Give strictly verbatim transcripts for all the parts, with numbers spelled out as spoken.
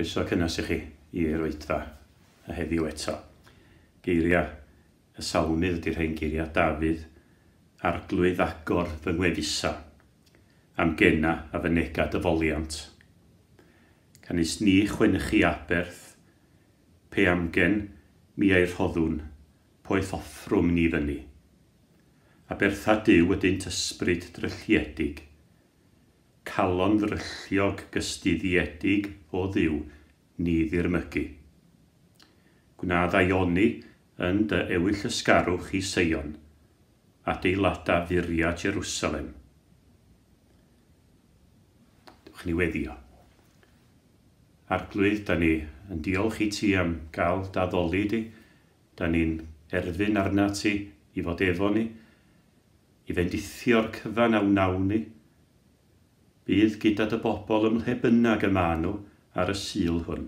Croeso cynnes i chi i'r oedfa a heddiw eto. Geiriau y salmydd ydy'r rhain, geiriau Dafydd: "Arglwydd, agor fy ngwefusau, a'm gena a fynega dy foliant. Canys ni chwennych aberth, pe amgen mi a'i rhoddwn, poeth offrwm ni fynni. Abertha Duw ydynt ysbryd drylliedig, calon ddrylliog gystuddiedig, o Dduw, ni ddirmygu. Gwna ddaioni yn dy ewyllysgarwch i Seion, adeilada furiau Jerusalem." Dewch ni weddio. Arglwydd, da ni yn diolch i ti am gael d'addoli di. Da ni'n erfyn arna ti i fod efo ni, i fendithio'r cyfan a wnawn ni. Bydd gyda dy bobl ym mhle bynnag y maen nhw ar y Sul hwn.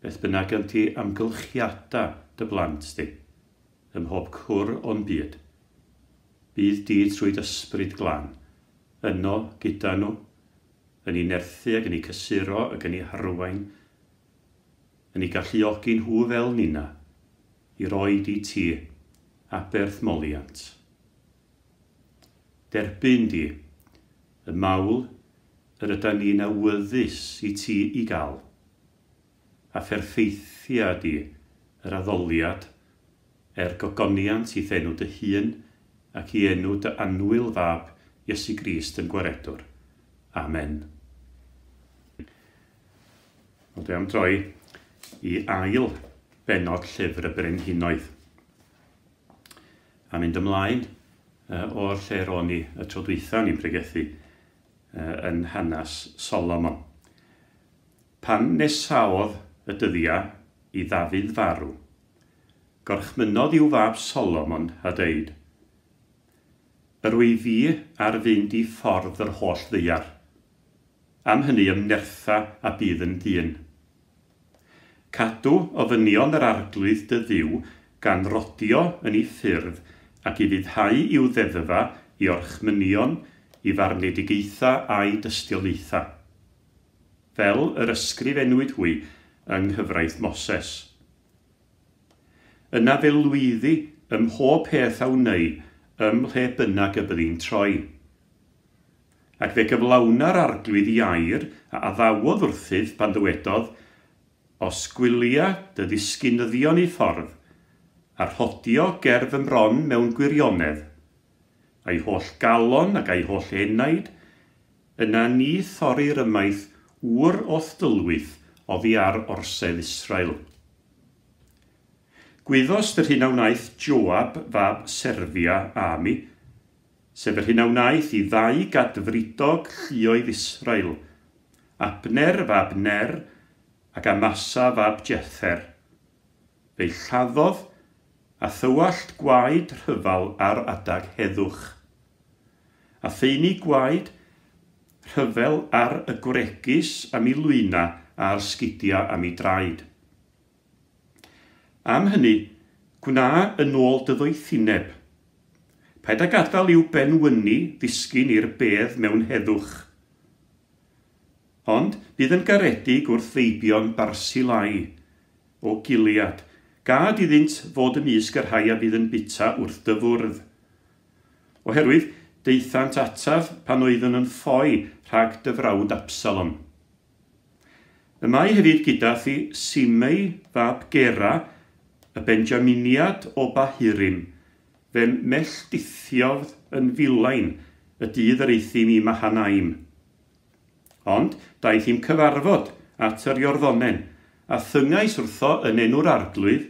Beth bynnag ydy amgylchiadau dy blant di, ym mhob cwr o'n byd. Bydd di trwy dy Ysbryd Glân, yno gyda nhw, yn eu nerthu ac yn eu cysuro ac yn eu harwain, yn eu galluogi nhw fel nina, i roid i ti aberth moliant. Derbyn di y mawl yr yda ni'n awyddus i ti i gael, a pherffeithia di yr addoliad er gogoniant i'th enw dy hun ac i enw dy annwyl Fab Iesu Grist ein Gwaredwr. Amen. Wel, dwi am droi i ail benod Llyfr y Brenhinoedd. A mynd ymlaen uh, o'r lle ro'n i y tro dwytha ni'n pregethu uh, yn hanes Solomon. Pan nesaodd y dyddiau i Ddafydd farw, gorchmynnodd i'w fab Solomon a deud, "Yr wyf fi ar fynd i ffordd yr holl ddaear. Am hynny ymnertha a bydd yn ddyn. Cadw ofynion yr Arglwydd dy Dduw gan rodio yn ei ffyrdd ac i ufuddhau i'w ddeddfa, i orchmynion, i farnedigaethau a'i dystiolaethau, fel yr ysgrifennwyd hwy yng nghyfraith Moses. Yna fe lwyddi ym mhob peth a wnei ym mhle bynnag y byddi'n troi. Ac fe gyflawna'r Arglwydd ei air a addawodd wrthyf pan ddywedodd, 'Os gwylia dy ddisgynyddion eu ffordd, a rhodio ger fy mron mewn gwirionedd, a'i holl galon ac a'i holl enaid, yna ni thorir ymaith ŵr o'th dylwyth oddi ar orsedd Israel.' Gwyddost yr hyn a wnaeth Joab fab Serfia â mi, sef yr hyn a wnaeth i ddau gadfridog lluoedd Israel, Abner fab Ner ac Amasa fab Jether. Fe'i lladdodd a thywallt gwaed rhyfel ar adag heddwch. A thaenu gwaed rhyfel ar y gwregys am ei lwyna a'r sgidiau am ei draed. Am hynny, gwna yn ôl dy ddoethineb. Paid â gadael i'w benwyni ddisgyn i'r bedd mewn heddwch. Ond bydd yn garedig wrth feibion Barsilai o Gilead. Gad iddynt fod ymysg y rhai a fydd yn byta wrth dy fwrdd. Oherwydd daethant ataf pan oeddwn yn ffoi rhag dy frawd Absalom. Y mae hefyd gyda thi Simei fab Gera, y Benjaminiad o Bahurim, fe'm melldithiodd yn filain y dydd yr euthum i Mahanaim. Ond daeth i'm cyfarfod at yr Iorddonen, a thyngais wrtho yn enw'r Arglwydd,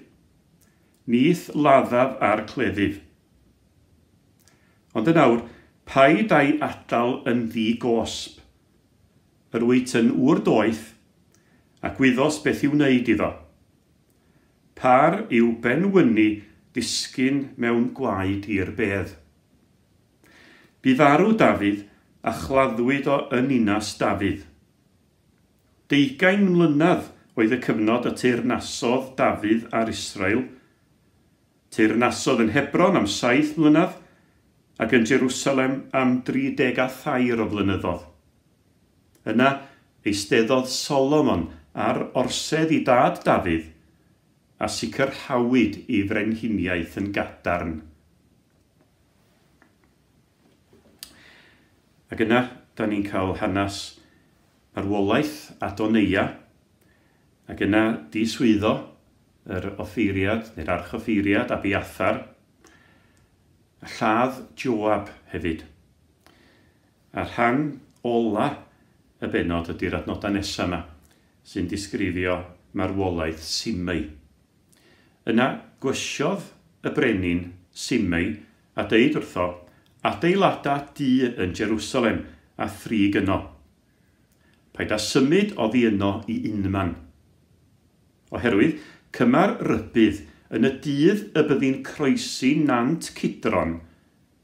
'Ni'th laddaf â'r cleddyf.' Ond yn awr, paid a'i adael yn ddi-gosb. Yr wyt yn ŵr doeth, a gwyddost beth i'w wneud iddo. Par i'w benwyni ddisgyn mewn gwaed i'r bedd." Bu farw Dafydd a chladdwyd o yn Ninas Dafydd. Deugain mlynedd oedd y cyfnod y teyrnasodd Dafydd ar Israel. Teyrnasodd yn Hebron am saith mlynedd ac yn Jerusalem am dri deg a thair o flynyddoedd. Yna eisteddodd Solomon ar orsedd i dad Dafydd, a sicrhawyd ei frenhiniaeth yn gadarn. Ac yna, da ni'n cael hanes marwolaeth Adoneia, ac yna diswyddo yr offeiriad, neu'r archoffeiriad Abiathar, a lladd Joab hefyd. A rhan ola y bennod ydy'r adnodau nesaf yma, sy'n disgrifio marwolaeth Simei. Yna gwysiodd y brenin Simei a deud wrtho, adeilada dŷ yn Jerusalem a thrig yno. Paid â symud oddi yno i unman. Oherwydd, cymar rybudd yn y dydd y byddi'n croesi nant Cidron,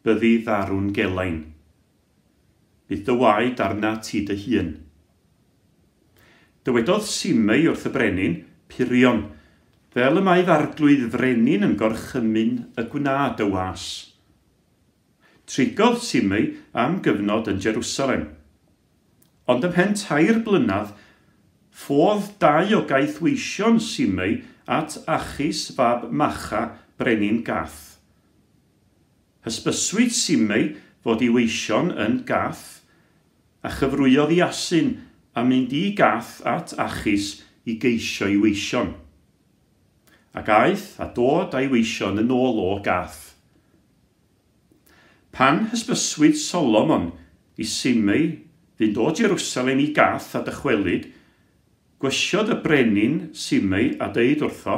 byddi farw'n gelain. Bydd dy waed arna ti dy hun. Dywedodd Simei wrth y brenin, Purion, fel y mae f'arglwydd frenin yn gorchymyn y gwna dy was. Trigodd Simei am gyfnod yn Jerusalem. Ond ymhen tair blynedd, ffodd dau o gaethweision Simei at Achis fab Macha, brenin Gath. Hysbyswyd Simei fod ei weision yn Gath, a chyfrwyodd i asyn a mynd i Gath at Achis i geisio ei weision. Ac aeth a dod a'i weision yn ôl o Gath. Pan hysbyswyd Solomon i Simei fynd o Jerusalem i Gath a dychwelyd, gwysiodd y brenin Simei a deud wrtho,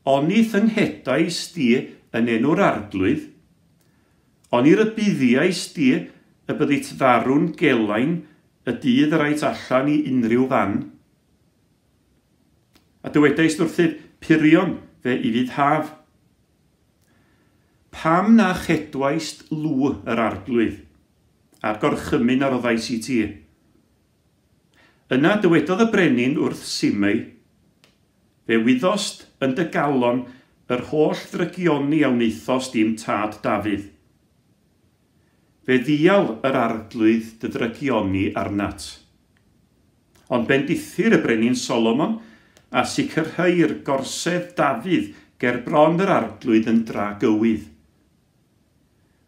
Oni thynghedaist di yn enw'r arglwydd, oni rybuddiaist di y byddit farw'n gelain y dydd yr ait allan i unrhyw fan. A dywedaist wrthyf, Purion fe i fydd haf. Pam na chedwaist lw yr arglwydd, a'r gorchymyn a roddais i ti? Yna dywedodd y brenin wrth Simei, fe wyddost yn dy galon yr holl ddrygioni a wnaethost i'm tad Dafydd. Fe ddial yr arglwydd dy ddrygioni arnat. Ond bendithir y brenin Solomon a sicrhau'r gorsedd Dafydd ger bron yr arglwydd yn dragywydd.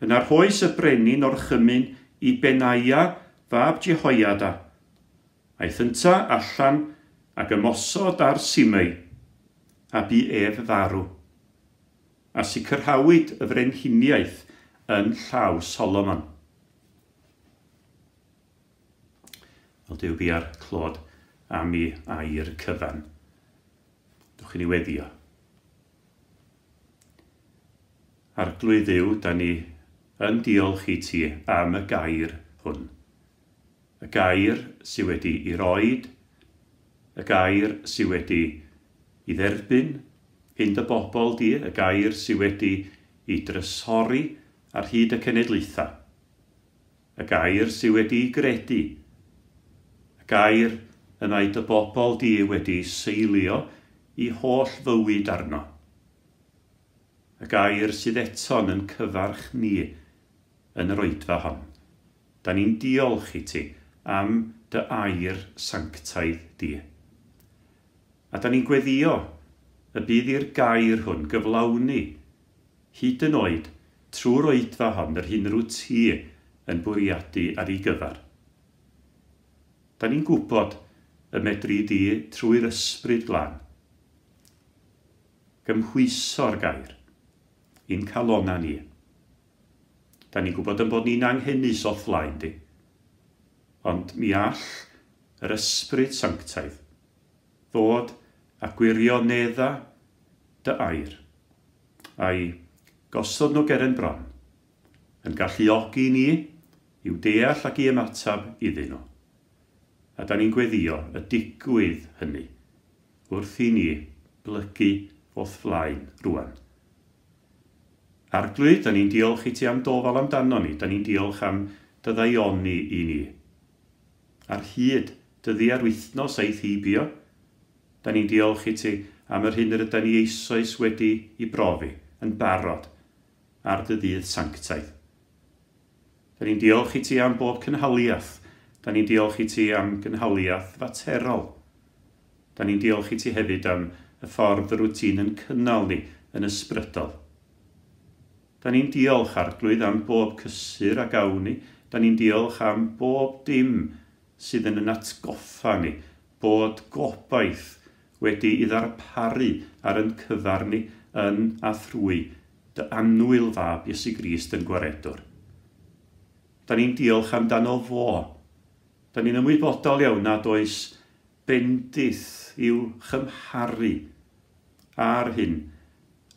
Yna rhoes y brenin orchymyn i Benaia fab Jehoiada. Aeth ynta allan ac ymosod ar Simei, a bu ef farw. A sicrhawyd y frenhiniaeth yn llaw Solomon. Wel, Duw bia'r clod am ei air cyfan. Dwch i ni weddio. Arglwydd Dduw, da ni yn diolch i ti am y gair hwn. Y gair sydd wedi ei roed, y gair sydd wedi ei dderbyn hyn dy bobl di, y gair sydd wedi ei drysori ar hyd y cenedlaethau, y gair sydd wedi ei gredu, y gair y mae dy bobl di wedi seilio i holl fywyd arno, y gair sydd eto'n yn cyfarch ni yn yr oedfa hon. Da ni'n diolch i ti am dy air sanctaidd di. A da ni'n gweddio y bydd i'r gair hwn gyflawni hyd yn oed trwy'r oedfa hon yr hyn rwyt ti yn bwriadu ar ei gyfer. Da ni'n gwybod y medri di trwy'r ysbryd glân gymhwyso'r gair i'n calona ni. Da ni'n gwybod yn bod ni'n anghenus o'th flaen di. Ond mi all yr ysbryd sanctaidd ddod a gwirionedda dy air, a'i gosod nhw ger yn bron, yn galluogi ni i'w deall ac i ymateb iddyn nhw. A da ni'n gweddio y digwydd hynny wrth i ni blygu o'th flaen rwan. Arglwydd, da ni'n diolch i ti am dofal amdano ni, da ni'n diolch am dy ddaioni i ni. Ar hyd dyddiau'r wythnos aeth heibio, da ni'n diolch i ti am yr hyn yr ydan ni eisoes wedi i brofi yn barod ar dy ddydd sanctaidd. Da ni'n diolch i ti am bob cynhaliaeth Da ni'n diolch i ti am gynhaliaeth faterol. Da ni'n diolch i ti hefyd am y ffordd yr wyt ti'n yn cynnal ni yn ysbrydol. Da ni'n diolch, Arglwydd, am bob cysur a gawn ni. Da ni'n diolch am bob dim sydd yn yn atgoffa ni bod gobaith wedi ei ddarparu ar yn cyfar ni yn a thrwy dy annwyl fab Iesu Grist yn gwaredwr. Da ni'n diolch amdano fo. Da ni'n ymwybodol iawn nad oes bendith i'w chymharu ar hyn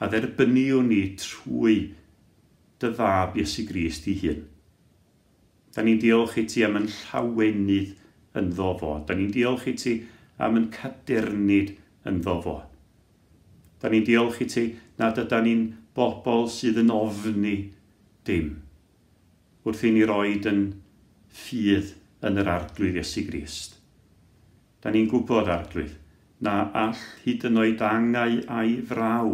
a dderbyniwn ni trwy dy fab Iesu Grist ei hun. Da ni'n diolch i ti am yn llawenydd ynddo fo. Da ni'n diolch i ti am yn cadernid ynddo fo. Da ni'n diolch i ti nad ydan ni'n bobl sydd yn ofni dim wrth i ni roed yn ffydd yn yr Arglwydd Iesu Grist. Da ni'n gwybod, Arglwydd, na all hyd yn oed angau a'i fraw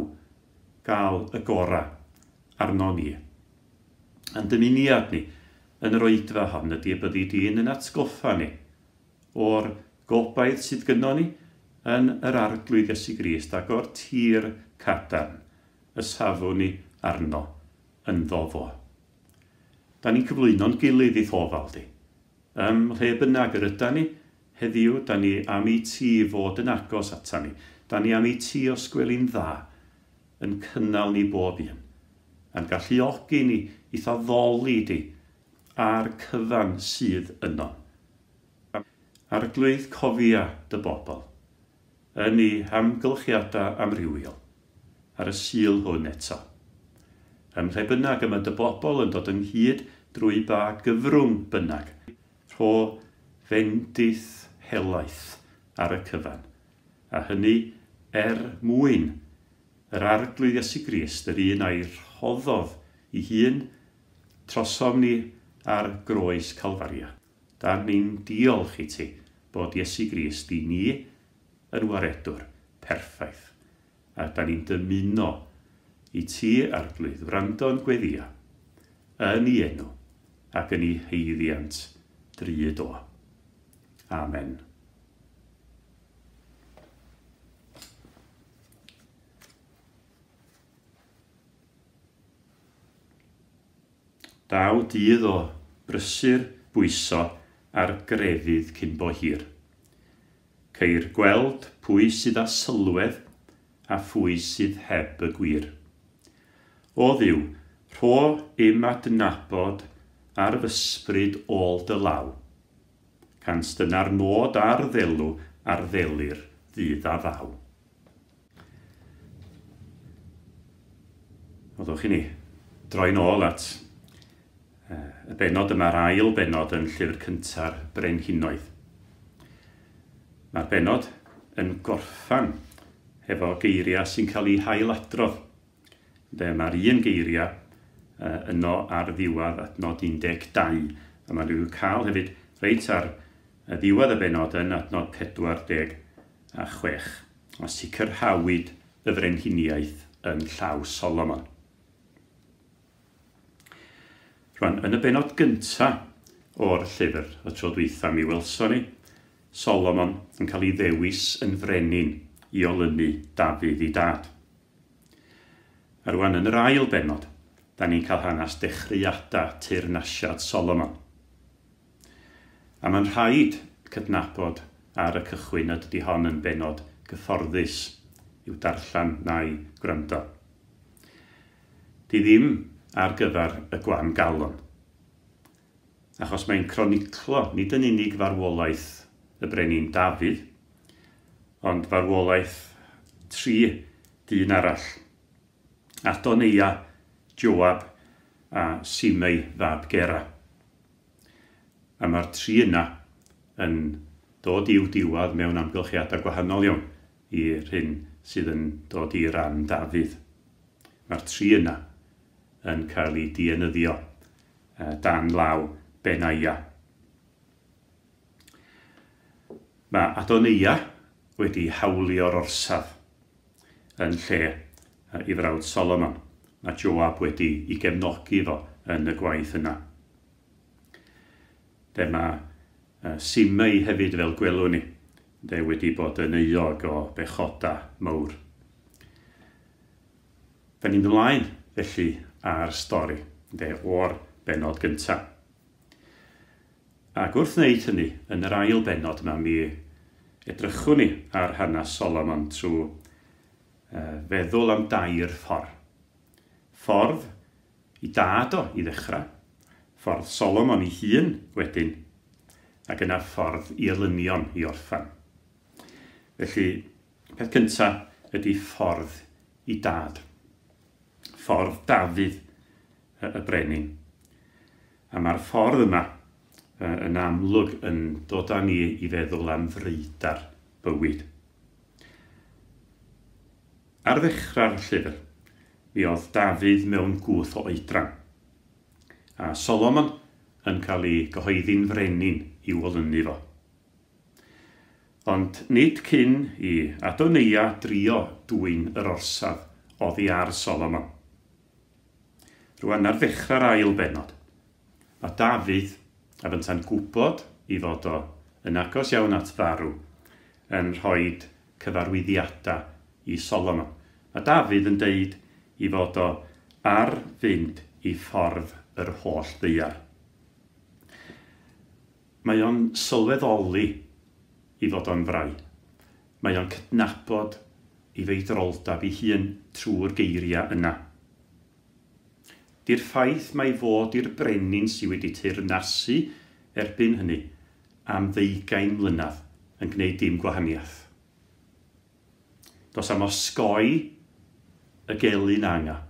gael y gorau arno ni. A'n dymuniad ni yn yr oedfa hon ydy y byddi di'n yn atgoffa ni o'r gobaith sydd gynnon ni yn yr Arglwydd Iesu Grist ac o'r tir cadarn y safwn ni arno ynddo fo. Da ni'n cyflwyno'n gilydd i'th ofal di. Ym mhle bynnag yr ydan ni, heddiw, da ni am i ti fod yn agos ata ni. Da ni am i ti os gweli'n dda yn cynnal ni bob un. A'n galluogi ni i'th addoli di a'r cyfan sydd yno. Arglwydd, cofia dy bobl yn ei hamgylchiadau amrywiol ar y Sul hwn eto. Ym mhle bynnag y mae dy bobl yn dod ynghyd drwy ba gyfrwng bynnag, rho fendith helaeth ar y cyfan, a hynny er mwyn yr Arglwydd Iesu Grist, yr un a'i rhoddodd ei hun trosom ni ar groes Calfaria. Da ni'n diolch i ti bod Iesu Grist i ni yn waredwr perffaith. A da ni'n dymuno i ti, Arglwydd, wrando'n gweddia yn ei enw ac yn ei haeddiant drud o. Amen. Daw dydd o brysur bwyso ar grefydd cyn bo hir. Ceir gweld pwy sydd â sylwedd a phwy sydd heb y gwir. O Dduw, rho im adnabod ar f'ysbryd ôl dy law. Cans dyna'r nod a'r ddelw a'r ddelir ddydd a ddaw. Oddwch i ni droi'n ôl at y bennod yma'r ail bennod yn llyfr cynta'r Brenhinoedd. Mae'r bennod yn gorffan hefo geiriau sy'n cael eu hailadrodd. Mae'r un geiriau yno ar ddiwedd adnod un deg dau, a maen nhw'n cael hefyd reit ar ddiwedd y bennod yn adnod pedwar deg a chwech. A sicrhawyd y frenhiniaeth yn llaw Solomon. Rwan, yn y bennod gyntaf o'r llyfr, y tro dwytha mi welson ni, Solomon yn cael ei ddewis yn frenin i olynu Dafydd ei dad. A rwan, yn yr ail bennod, da ni'n cael hanes dechreuadau teyrnasiad Solomon. A mae'n rhaid cydnabod ar y cychwyn nad ydy hon yn bennod gyfforddus i'w darllen na'i gwrando. Di ddim ar gyfer y gwan galon, achos mae'n croniclo nid yn unig farwolaeth y brenin Dafydd, ond farwolaeth tri dyn arall, Adoneia, Joab a Simei fab Gera. A mae'r tri yna yn dod i'w diwedd mewn amgylchiadau gwahanol iawn i'r hyn sydd yn dod i ran Dafydd. Mae'r tri yna yn cael ei dienyddio dan law Benaia. Mae Adoneia wedi hawlio'r orsaf yn lle ei frawd Solomon. Mae Joab wedi ei gefnogi fo yn y gwaith yna. Dyma Simei hefyd, fel gwelwn ni, de, wedi bod yn euog o bechoda mawr. Da ni'n ymlaen, felly, ar stori, de, o'r bennod gyntaf. Ac wrth wneud hynny, yn yr ail bennod yma, mi edrychwn ni ar hanes Solomon trwy uh, feddwl am dair ffordd. Ffordd i dad o i ddechrau, ffordd Solomon ei hun wedyn, ac yna ffordd i elynion i orffan. Felly, peth cyntaf ydy ffordd i dad. Ffordd Dafydd y brenin. A mae'r ffordd yma yn amlwg yn dod â ni i feddwl am freidar bywyd. Ar ddechrau'r llyfr, mi oedd Dafydd mewn gwth o oedran, a Solomon yn cael ei gyhoeddi'n frenin i'w olynu fo. Ond nid cyn i Adoneia drio dwyn yr orsaf oddi ar Solomon. Rwan ar ddechrau'r ail bennod, mae Dafydd, a fynta'n gwybod i fod o yn agos iawn at farw, yn rhoi cyfarwyddiadau i Solomon. Mae Dafydd yn deud i fod o ar fynd i ffordd yr holl ddaear. Mae o'n sylweddoli i fod o'n frau. Mae o'n cydnabod i feidroldeb ei hun trwy'r geiriau yna. Di'r ffaith mai fod i'r brenin sydd wedi teyrnasu erbyn hynny am ddeugain mlynedd yn gwneud dim gwahaniaeth. Does am osgoi y gelyn anga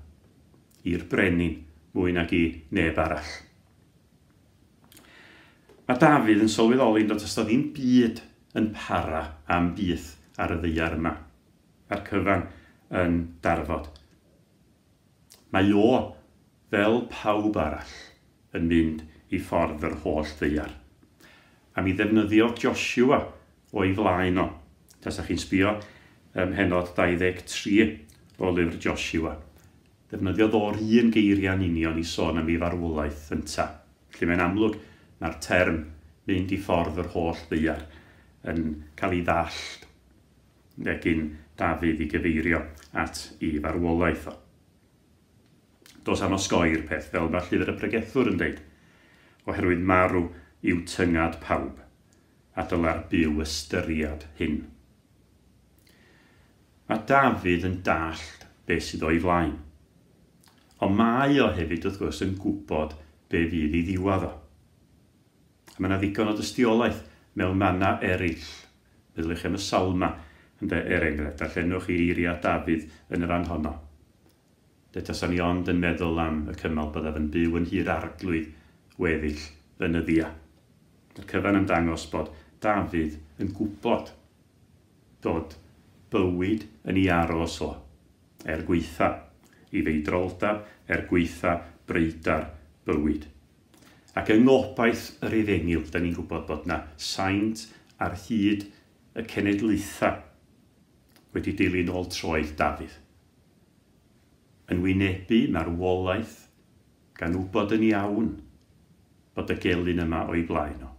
i'r brenin mwy nag i neb arall. Mae Dafydd yn sylweddoli nad oes ddim byd yn para am byth ar y ddaear yma. Mae'r cyfan yn darfod. Mae o, fel pawb arall, yn mynd i ffordd yr holl ddaear. A mi ddefnyddio Joshua o'i flaen o. Tasach chi'n sbio ym mhennod dau ddeg tri o lyfr Joshua. Defnyddiodd o'r un geiriau'n union i sôn am ei farwolaeth ynta. Felly mae'n amlwg mae'r term mynd i ffordd yr holl ddaear yn cael ei ddallt gyn Dafydd i gyfeirio at ei farwolaeth o. Does am osgoi'r peth, fel mae llyfr y pregethwr yn deud, oherwydd marw yw tyngad pawb, a dyla'r byw ystyriad hyn. Mae Dafydd yn dallt beth sydd o'i flaen. Ond mae o hefyd, wrth gwrs, yn gwybod be fydd ei ddiwadd o. A mae yna ddigon o dystiolaeth mewn mannau eraill. Meddyliwch am y Salma, ynde, er enghraifft, darllenwch i eiriau Dafydd yn y fan honno. De tasan ni ond yn meddwl am y cymal byddaf yn byw yn hir arglwydd weddill fy nyddia. Mae'r cyfan yn dangos bod Dafydd yn gwybod bod bywyd yn ei aros o, er gweitha i feidroldeb, er gweitha breidar bywyd. Ac yng ngobaith yr efengyl, da ni'n gwybod bod na saint ar hyd y cenedlaethau wedi dilyn ôl troed Dafydd. Yn wynebu marwolaeth gan wybod yn iawn bod y gelyn yma o'i blaen o.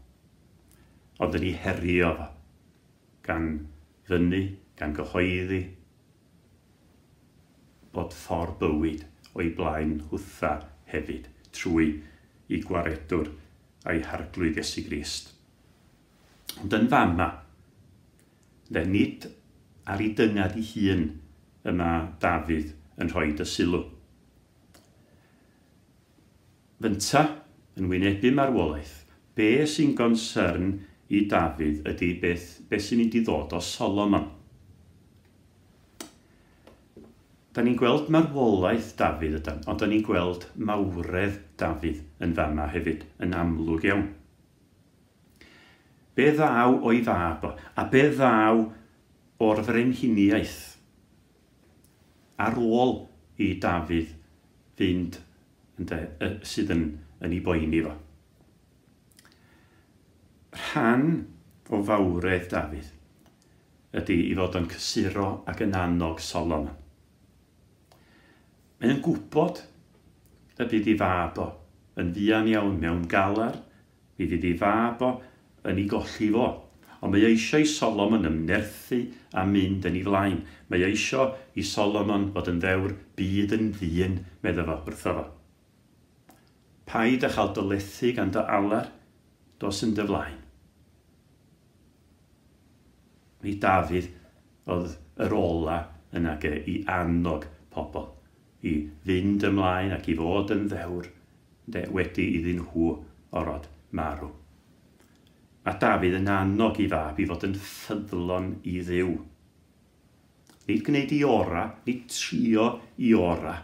Ond yn ei herio fo, gan fyny, gan gyhoeddi, bod ffordd bywyd o'i blaen hwtha hefyd, trwy i gwaredwr a'i harglwydd Iesu Grist. Ond yn fama, de nid ar ei dyngad ei hun y mae Dafydd yn rhoi y sylw. Fynta, yn wynebu marwolaeth, be sy'n gonsern i Dafydd ydy beth, beth sy'n mynd i ddod o Solomon. Da ni'n gweld marwolaeth Dafydd ydan, ond da ni'n gweld mawredd Dafydd yn fama hefyd, yn amlwg iawn. Be ddaw o'i fab o, a be ddaw o'r frenhiniaeth ar ôl i Dafydd fynd ynde, sydd yn, yn ei boeni fo. Rhan o fawredd Dafydd ydy i fod yn cysuro ac yn annog Solomon. Mae'n gwybod y bydd ei fab o yn fuan iawn mewn galar, mi fydd ei fab o yn ei golli fo. Ond mae eisiau i Solomon ymnerthu a mynd yn ei flaen. Mae eisiau i Solomon fod yn ddewr, byd yn ddyn, medda fo wrtho fo. Paid â chael dy lethu gan dy alar, dos yn dy flaen. Mi Dafydd oedd yr ola yna ge i annog pobl i fynd ymlaen ac i fod yn ddewr de, wedi iddyn nhw orod marw. Mae Dafydd yn annog i fab i fod yn ffyddlon i Dduw. Nid gwneud i ora, nid trio i ora,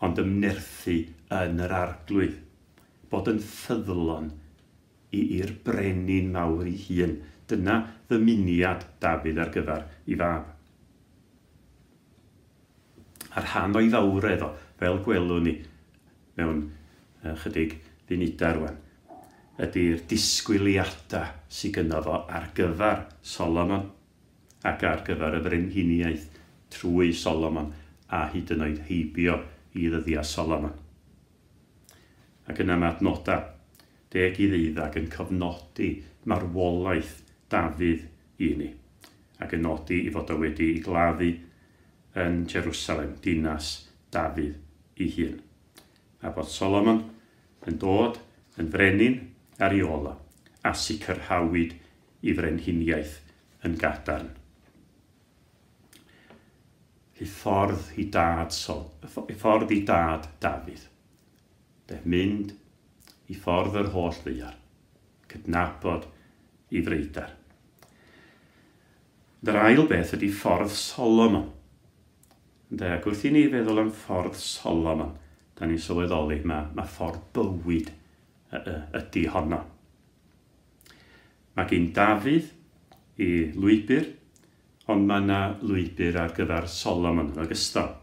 ond ymnerthu yn yr Arglwydd. Bod yn ffyddlon i'r brenin mawr ei hun. Dyna ddymuniad Dafydd ar gyfer i fab. A'r rhan o'i fawredd o, fel gwelwn ni mewn chydig funudau rwan, ydy'r disgwyliadau sydd gynno fo ar gyfer Solomon ac ar gyfer y frenhiniaeth trwy Solomon a hyd yn oed heibio i ddyddiau Solomon. Ac yna mae adnodau deg i ddeuddag yn cofnodi marwolaeth Dafydd i ni ac yn nodi i fod o wedi ei gladdu yn Jerusalem, dinas Dafydd ei hun. A bod Solomon yn dod yn frenin ar ei ôl o, a sicrhawyd i frenhiniaeth yn gadarn. I ffordd i dad Sol, i ffordd i dad Dafydd. De, mynd i ffordd yr holl ddaear, cydnabod i freidar. Yr ail beth ydy ffordd Solomon. De, ac wrth i ni feddwl am ffordd Solomon, da ni'n sylweddoli mae, mae ffordd bywyd ydy honno. Mae gen Dafydd i lwybr, ond mae yna lwybr ar gyfer Solomon yn ogystal.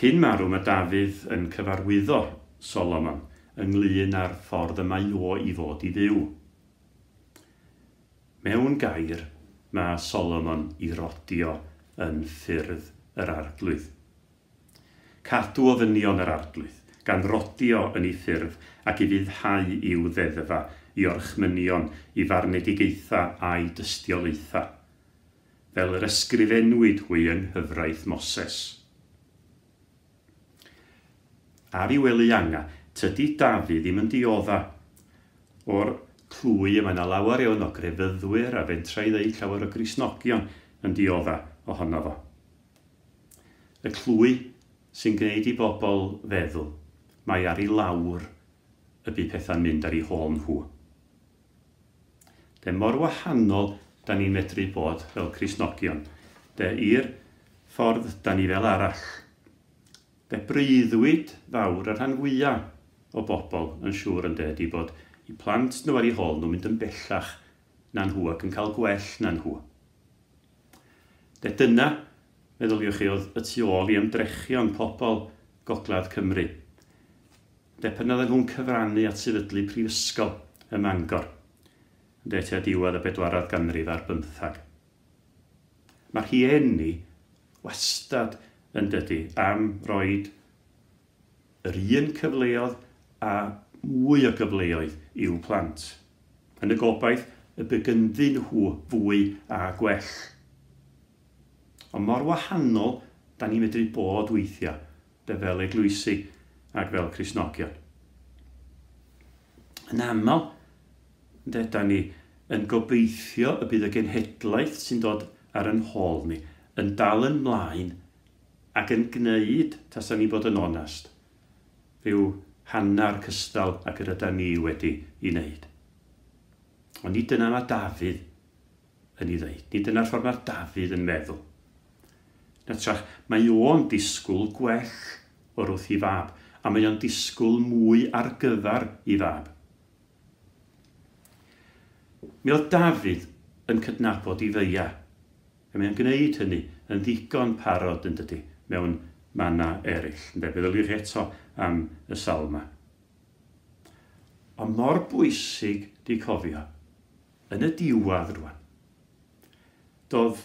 Cyn marw mae Dafydd yn cyfarwyddo Solomon ynglyn â'r ffordd y mae o i fod i fyw. Mewn gair, mae Solomon i rodio yn ffyrdd yr Arglwydd. Cadw ofynion yr Arglwydd, gan rodio yn ei ffyrdd ac i fuddhau i'w ddeddfa, i orchmynion, i farnedigaetha a'i dystiolaetha, fel yr ysgrifennwyd hwy yng nghyfraith Moses. Ar ei wely anga, tydi Dafydd ddim yn diodda o'r clwy y mae yna lawer iawn o grefyddwyr a fentra i ddeud llawer o Gristnogion yn diodda ohono fo. Y clwy sy'n gwneud i bobl feddwl mae ar ei lawr y bydd pethau'n mynd ar ei hôl nhw. De mor wahanol da ni'n medru bod fel Cristnogion. De i'r ffordd da ni fel arall. De breuddwyd fawr y rhan fwyaf o bobl yn siŵr yn de ydi bod i plant nhw ar ei hôl nhw'n mynd yn bellach na nhw ac yn cael gwell na nhw. De dyna, meddyliwch chi, oedd y tu ôl i ymdrechion pobl Gogledd Cymru. De pan oedden nhw'n cyfrannu at sefydlu prifysgol ym Mangor, de tua diwedd y bedwaredd ganrif ar bymthag. Mae'r rhieni wastad yn dydy am roed yr un cyfleoedd a mwy o gyfleoedd i'w plant, yn y gobaith y bydd ganddyn nhw fwy a gwell. Ond mor wahanol da ni'n medru bod weithiau, de fel eglwysi ac fel Cristnogion. Yn aml, de, da ni yn gobeithio y bydd y genhedlaeth sy'n dod ar yn hôl ni yn dal yn mlaen ac yn gwneud, tasa ni bod yn onast, rhyw hanner cystal ac yr yda ni wedi i wneud. Ond nid dyna mae Dafydd yn ei ddeud. Nid dyna'r ffordd mae Dafydd yn meddwl. Natrach, mae o'n disgwyl gwell o'r wrth i fab, a mae o'n disgwyl mwy ar gyfer i fab. Mi oedd Dafydd yn cydnabod i feia, a mae o'n gwneud hynny yn ddigon parod yn dydy, mewn mannau eraill. Ynde, feddyliwch eto am y salma. Ond mor bwysig di cofio, yn y diwedd rwan, doedd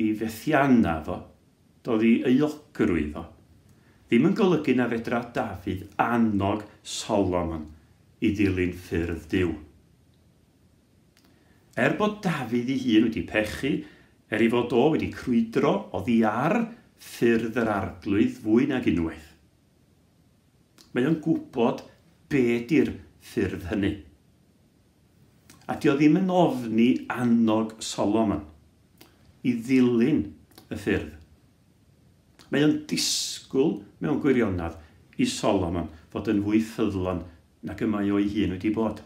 i fethianna fo, doedd i euogrwydd fo, ddim yn golygu na fedra Dafydd annog Solomon i ddilyn ffyrdd Duw. Er bod Dafydd ei hun wedi pechu, er ei fod o wedi crwydro oddi ar ffyrdd yr Arglwydd fwy nag unwaith, mae o'n gwybod be di'r ffyrdd hynny. A dio ddim yn ofni annog Solomon i ddilyn y ffyrdd. Mae o'n disgwyl mewn gwirionedd i Solomon fod yn fwy ffyddlon nag y mae o'i hun wedi bod.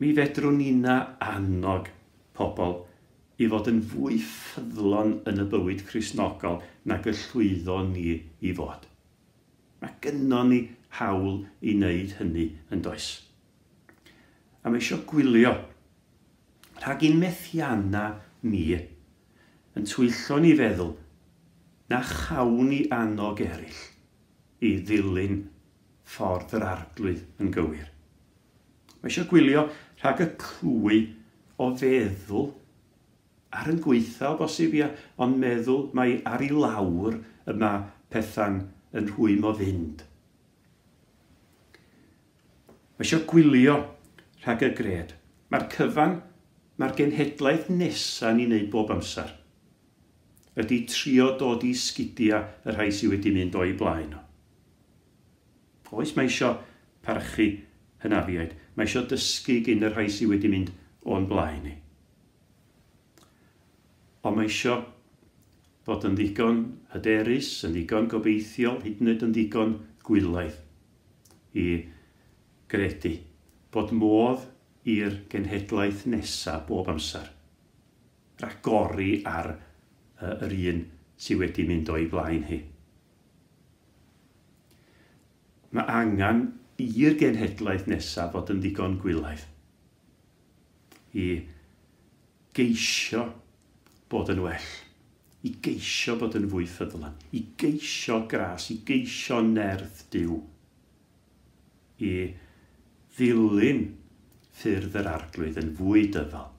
Mi fedrwn ni'na annog pobl i fod yn fwy ffyddlon yn y bywyd Cristnogol nag y llwyddon ni i fod. Mae gynnon ni hawl i wneud hynny yn does. A mae eisiau gwylio rhag i'n methianna ni yn twyllo ni feddwl na chawn ni annog eraill i ddilyn ffordd yr Arglwydd yn gywir. Mae eisiau gwylio rhag y clwy o feddwl ar yn gweitha o bosib ia, ond meddwl mai ar ei lawr y mae pethau'n yn rhwym o fynd. Mae eisiau gwylio rhag y gred. Mae'r cyfan, mae'r genhedlaeth nesaf ni'n neud bob amser ydy trio dod i sgidia y rhai sydd wedi mynd o'i blaen o. Oes, mae eisiau parchu hynafiaid. Mae eisiau dysgu gyn y rhai sydd wedi mynd o'n blaen ni. Ond mae eisiau fod yn ddigon hyderus, yn ddigon gobeithiol, hyd yn oed yn ddigon gwylaidd i gredu bod modd i'r genhedlaeth nesaf bob amser ragori ar yr un sydd wedi mynd o'i blaen hi. Mae angen i'r genhedlaeth nesaf fod yn ddigon gwylaidd i geisio bod yn well, i geisio bod yn fwy ffyddlon, i geisio gras, i geisio nerth Duw, i ddilyn ffyrdd yr Arglwydd yn fwy dyfal.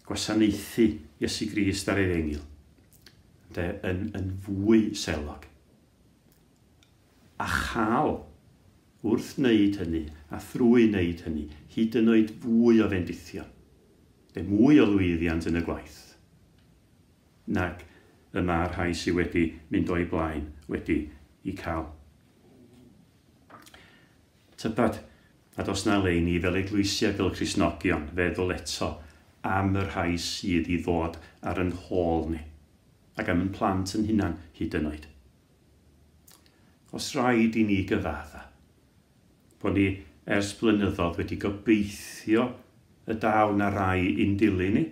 Gwasanaethu Iesu Grist ar Efengyl de, yn, yn fwy selog. A chael wrth wneud hynny a thrwy wneud hynny hyd yn oed fwy o fendithion, de, mwy o lwyddiant yn y gwaith nag y mae'r rhai sydd wedi mynd o'i blaen wedi i cael. Tybed, nad oes na le i ni fel eglwysiau, fel Cristnogion, feddwl eto am y rhai sydd i ddod ar yn hôl ni, ac am yn plant yn hunan hyd yn oed. Os rhaid i ni gyfadda, bod ni ers blynyddoedd wedi gobeithio y daw na rai i'n dilyn ni,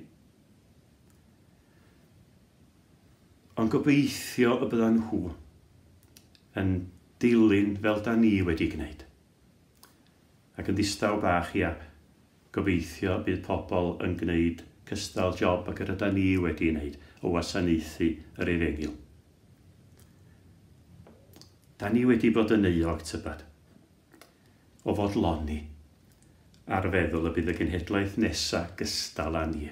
ond gobeithio y byddan nhw yn dilyn fel da ni wedi gwneud. Ac yn ddistaw bach, ia, gobeithio bydd pobl yn gwneud cystal job ac yr yda ni wedi wneud o wasanaethu yr Efengyl. Da ni wedi bod yn euog, tybed, o fodloni ar feddwl y bydd y genhedlaeth nesaf gystal â ni.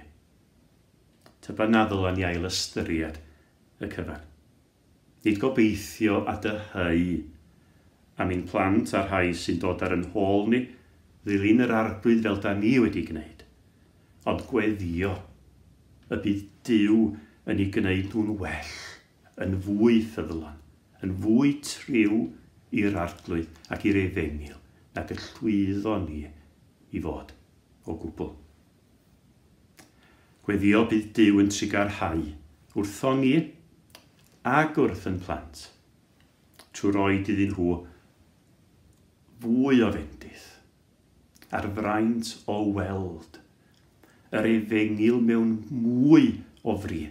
Tybed na ddylan ni ail ystyried y cyfan. Nid gobeithio a dyheu am ein plant a'r rhai sy'n dod ar yn hôl ni ddilyn yr Arglwydd fel da ni wedi gwneud, ond gweddio y bydd Duw yn ei gwneud nhw'n well, yn fwy ffyddlon, yn fwy triw i'r Arglwydd ac i'r Efengyl nag y llwyddo ni i fod o gwbl. Gweddio bydd Duw yn trugarhau wrthon ni ac wrth yn plant, trwy roed iddyn nhw fwy o fendith a'r fraint o weld yr Efengyl mewn mwy o fri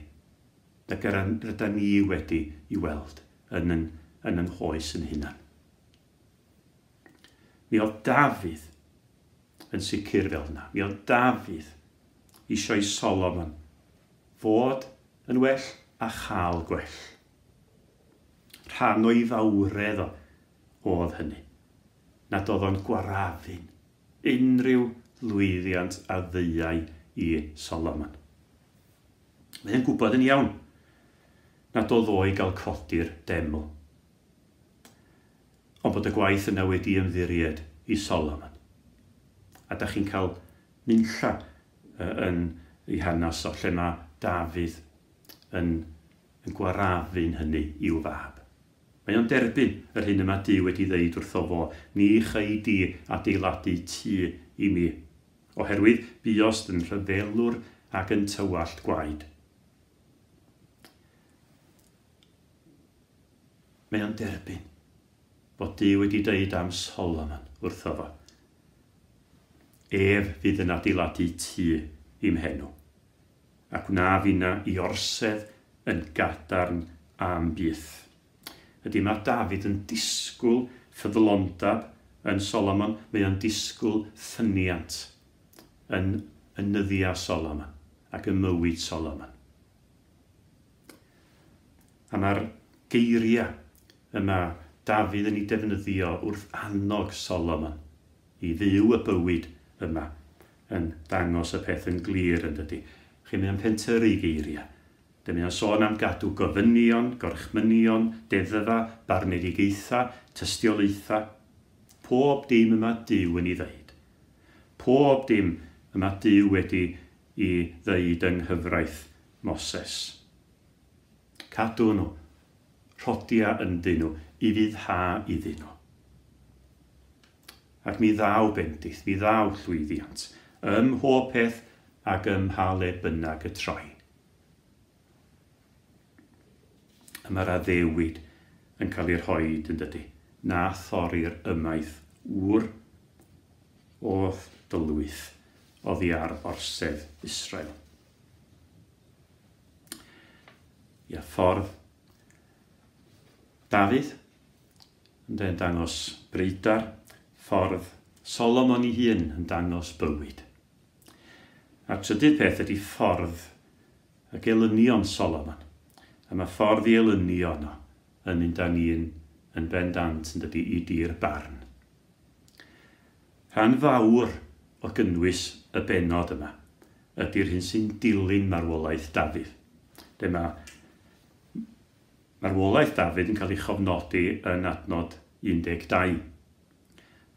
nag rydyn ni wedi i weld yn yn, yn yn hoes yn hunan. Mi oedd Dafydd yn sicr fel yna. Mi oedd Dafydd eisiau Solomon fod yn well a chael gwell. Rhan o'i fawredd o oedd hynny, nad oedd o'n gwarafun unrhyw lwyddiant a ddeuai i Solomon. Mae'n gwybod yn iawn nad oedd o i gael codi'r deml. Ond bod y gwaith yna wedi ymddiried i Solomon. A da chi'n cael nunlla yn ei hanes o lle mae Dafydd yn, yn gwarafun hynny i'w fab. Mae o'n derbyn yr hyn yma Duw wedi ddeud wrtho fo, ni chei di adeiladu tŷ i mi, oherwydd buost yn rhyfelwr ac yn tywallt gwaed. Mae o'n derbyn bod Duw wedi dweud am Solomon wrtho fo. Ef fydd yn adeiladu tŷ i'm henw, a gwna finna i orsedd yn gadarn am byth. Ydy mae Dafydd yn disgwyl ffyddlondeb yn Solomon, mae o'n disgwyl ffyniant yn yn nyddiau Solomon ac yn mywyd Solomon. A mae'r geiriau yma Dafydd yn ei defnyddio wrth annog Solomon i fyw y bywyd yma yn dangos y peth yn glir yn dydy. Chi'n mynd am pentyrru geiriau. Dyma o'n sôn am gadw gofynion, gorchmynion, deddfa, barnedigaetha, tystiolaetha. Pob dim yma Duw yn ei ddeud. Pob dim yma Duw wedi i ddeud yng nghyfraith Moses. Cadw nhw, rhodia ynddyn nhw, i fuddha iddyn nhw. Ac mi ddaw bendith, mi ddaw llwyddiant, ym mhob peth ac ym mha le bynnag y troi. A mae'r addewid yn cael ei rhoid yn dydy, na thorri'r ymaith ŵr o'th dylwyth oddi ar orsedd Israel. Ia, ffordd Dafydd yn dangos breidar, ffordd Solomon ei hun yn dangos bywyd. A'r trydydd peth ydy ffordd y gelynion Solomon. A mae ffordd i elynion o yn mynd â ni'n yn bendant yn dydy i dir barn. Rhan fawr o gynnwys y bennod yma ydy'r hyn sy'n dilyn marwolaeth Dafydd. Dyma marwolaeth Dafydd yn cael ei chofnodi yn adnod un deg dau.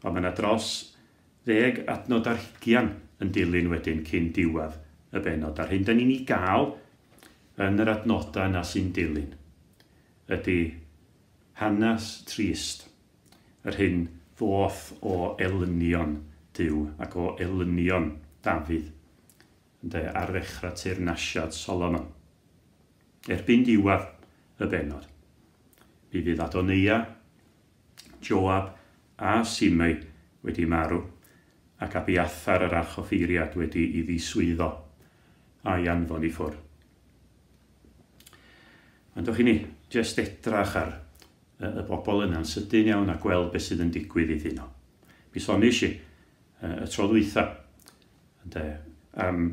Ond mae yna dros ddeg adnod ar hugian yn dilyn wedyn cyn diwedd y bennod. A'r hyn da ni'n ei gael yn yr adnodau yna sy'n dilyn ydy hanes trist, yr hyn ddoth o elynion Duw ac o elynion Dafydd ynde, ar ddechrau teyrnasiad Solomon. Erbyn diwedd y bennod, mi fydd Adoneia, Joab a Simei wedi marw ac Abiathar yr archoffeiriad wedi ei ddiswyddo a'i anfon i ffwrdd. Ond o'ch i ni jyst edrach ar y bobl yna'n sydyn iawn a gweld beth sydd yn digwydd iddyn nhw. Mi soniais i y tro dwytha ynde, am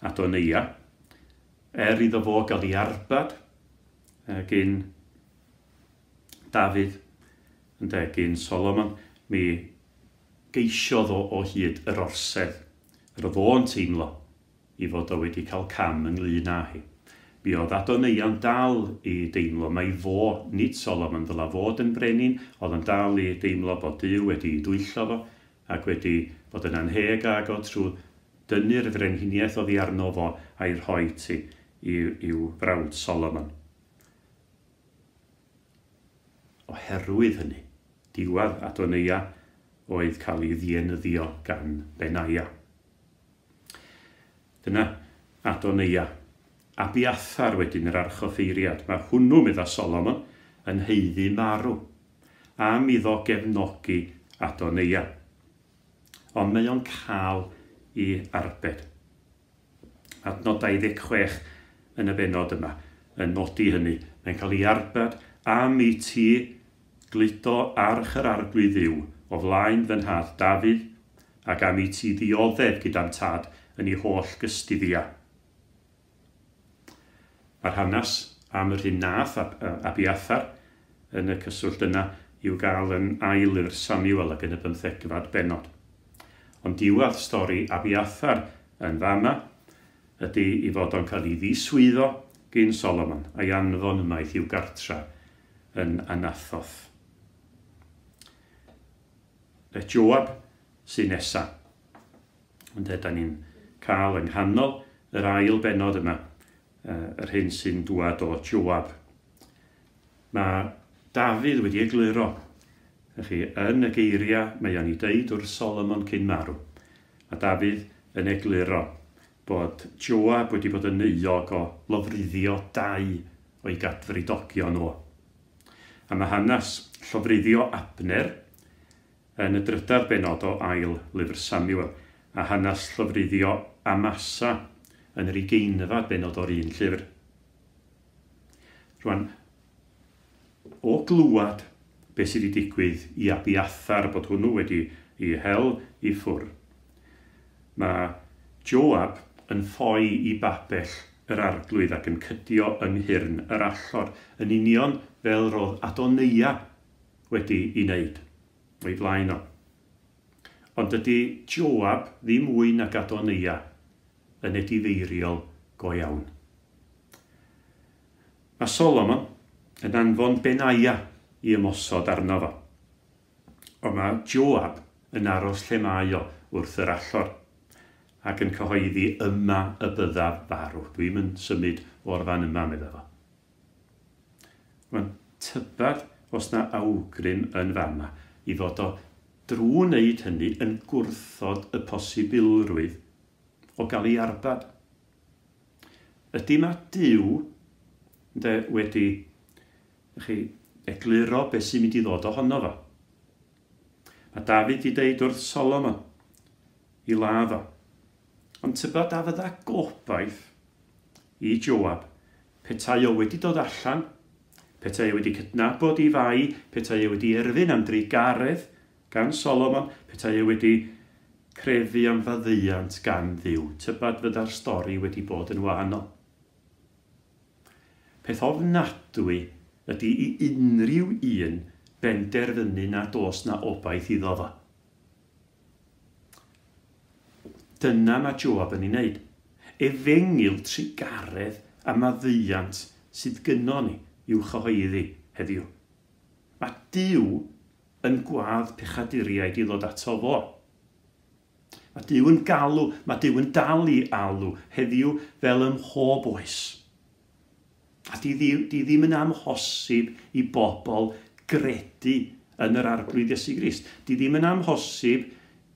Adoneia, er iddo fo gael ei arbad gyn Dafydd, ynde, gyn Solomon, mi geisiodd o o hyd yr orsedd. Yr oedd o'n teimlo i fod o wedi cael cam ynglyn â hi. Mi oedd Adoneia'n dal i deimlo mai fo, nid Solomon, ddyla fod yn brenin, oedd yn dal i deimlo bod Duw wedi dwyllo fo ac wedi bod yn anheg ag o trwy dynnu'r frenhiniaeth oddi arno fo a'i rhoi ti i'w frawd Solomon. Oherwydd hynny, diwedd Adoneia oedd cael ei ddienyddio gan Benaia. Dyna Adoneia. Abiathar wedyn yr archoffeiriad. Mae hwnnw, medda Solomon, yn haeddu marw am iddo gefnogi Adoneia. Ond mae o'n cael ei arbed. Adnod dau ddeg chwech yn y bennod yma yn nodi hynny. Mae'n cael ei arbed am i ti gludo arch yr arglwydd Dduw o flaen fy nhad Dafydd ac am i ti ddioddef gyda'n tad yn ei holl gystuddia. Mae'r hanes am yr hyn nath Abiathar yn y cyswllt yna i'w gael yn ail lyfr Samuel ac yn y bymthegfad bennod. Ond diwedd stori Abiathar yn fama ydy i fod o'n cael ei ddiswyddo gyn Solomon a'i anfon ymaith i'w gartra yn Anathoth. Joab sy'n nesa. Ond da ni'n cael yng nghanol yr ail bennod yma, yr hyn sy'n dŵad o Joab. Mae Dafydd wedi egluro chi, yn y geiriau mae o'n ei deud wrth Solomon cyn marw. Mae Dafydd yn egluro bod Joab wedi bod yn euog o lofruddio dau o'i gadfridogion o. A mae hanes llofruddio Abner yn y drydedd bennod o ail lyfr Samuel, a hanes llofruddio Amasa yn yr ugeinfed bennod o'r un llyfr. Rwan, o glwad beth sydd wedi digwydd i Abiathar, bod hwnnw wedi ei hel i ffwrdd, mae Joab yn ffoi i babell yr arglwydd ac yn cydio yng nghyrn yr allor, yn union fel roedd Adoneia wedi ei wneud o'i flaen o. Ond dydy Joab ddim mwy nag Adoneia yn edifeiriol go iawn. Mae Solomon yn anfon Benaia i ymosod arno fo. Ond mae Joab yn aros lle mae o wrth yr allor ac yn cyhoeddi yma y byddaf farw. Dwi'm yn symud o'r fan yma, medda fo. Mae'n tybad os na awgrym yn fama i fod o drwy wneud hynny yn gwrthod y posibilrwydd o gael ei arbad. Ydy mae Duw ynde, wedi chi, egluro beth sy'n mynd i ddod ohono fo. Mae Dafydd wedi deud wrth Solomon i ladd o. Ond tybad a fydda gobaith i Joab petai o wedi dod allan, petai o wedi cydnabod i fai, petai o wedi erfyn am drugaredd gan Solomon, petai o wedi crefu am faddeuant gan Dduw. Tybad fydda'r stori wedi bod yn wahanol. Peth ofnadwy ydy i unrhyw un benderfynu nad oes na obaith iddo fo. Dyna mae Joab yn ei wneud. Efengyl trugaredd a maddeuant sydd gynnon ni i'w chyhoeddi heddiw. Mae Duw yn gwadd pechaduriaid i ddod ato fo. Mae Duw yn galw, mae Duw yn dal i alw heddiw fel ym mhob oes. A di, di ddim yn amhosib i bobl gredu yn yr Arglwydd Iesu Grist. Di ddim yn amhosib